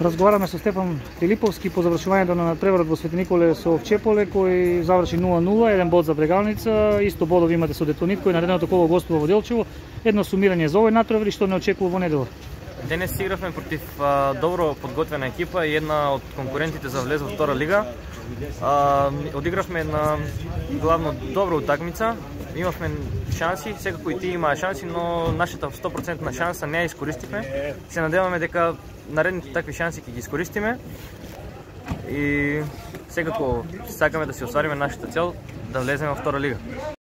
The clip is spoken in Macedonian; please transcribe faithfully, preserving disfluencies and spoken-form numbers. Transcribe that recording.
Разговараме со Стефан Филиповски по завршувањето на надпреварот во Свети Николе со Овчеполе, кој заврши нула нула, еден бод за Брегалница, исто бодови имате со Детонит, кој наредното коло гостува во Делчево. Едно сумирање за овој натпревар и што не очекува во неделя. Денес игравме против а, добро подготвена екипа и една од конкурентите за влез во втора лига. А, одигравме една главно добра утакмица. Имавме шанси, секако и тие имаа шанси, но нашата сто проценти шанса не ја искористивме. Се надеваме дека наредните такви шанси ќе ги искористиме и секако сакаме да си оствариме нашата цел да влеземе во втора лига.